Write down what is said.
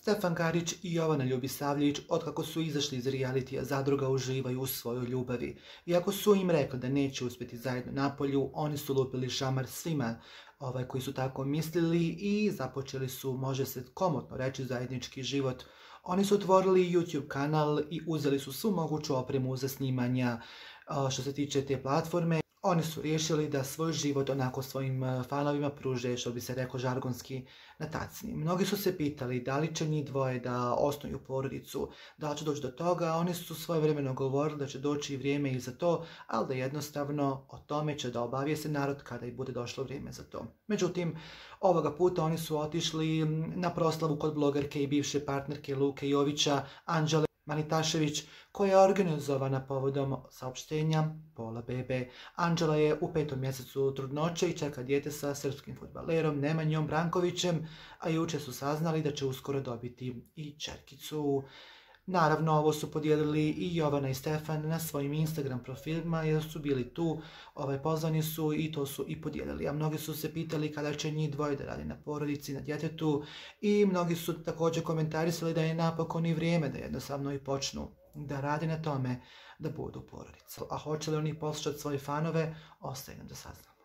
Stefan Karić i Jovana Ljubisavljević, otkako su izašli iz realitija Zadruga, uživaju u svojoj ljubavi. Iako su im rekli da neće uspjeti zajedno napolju, oni su lupili šamar svima koji su tako mislili i započeli su, može se komotno reći, zajednički život. Oni su otvorili YouTube kanal i uzeli su svu moguću opremu za snimanja što se tiče te platforme. Oni su riješili da svoj život onako svojim fanovima pruže, što bi se reklo žargonski, na tacni. Mnogi su se pitali da li će njih dvoje da osnuju porodicu, da li će doći do toga. Oni su svojevremeno govorili da će doći vrijeme i za to, ali da jednostavno o tome će da obavijeste narod kada i bude došlo vrijeme za to. Međutim, ovoga puta oni su otišli na proslavu kod blogerke i bivše partnerke Luke Jovića, Anđele Manitašević, koja je organizovana povodom saopštenja pola bebe. Anđela je u 5. mjesecu trudnoće i čeka dijete sa srpskim fudbalerom Nemanjom Brankovićem, a jučer su saznali da će uskoro dobiti i ćerkicu. Naravno, ovo su podijelili i Jovana i Stefan na svojim Instagram profilima jer su bili tu, pozvani su i to su i podijelili. A mnogi su se pitali kada će njih dvoje da radi na porodici, na djetetu, i mnogi su također komentarisali da je napokon i vrijeme da jednostavno i počnu da radi na tome da budu porodica. A hoće li oni poslušati svoje fanove, ostaje nam da saznamo.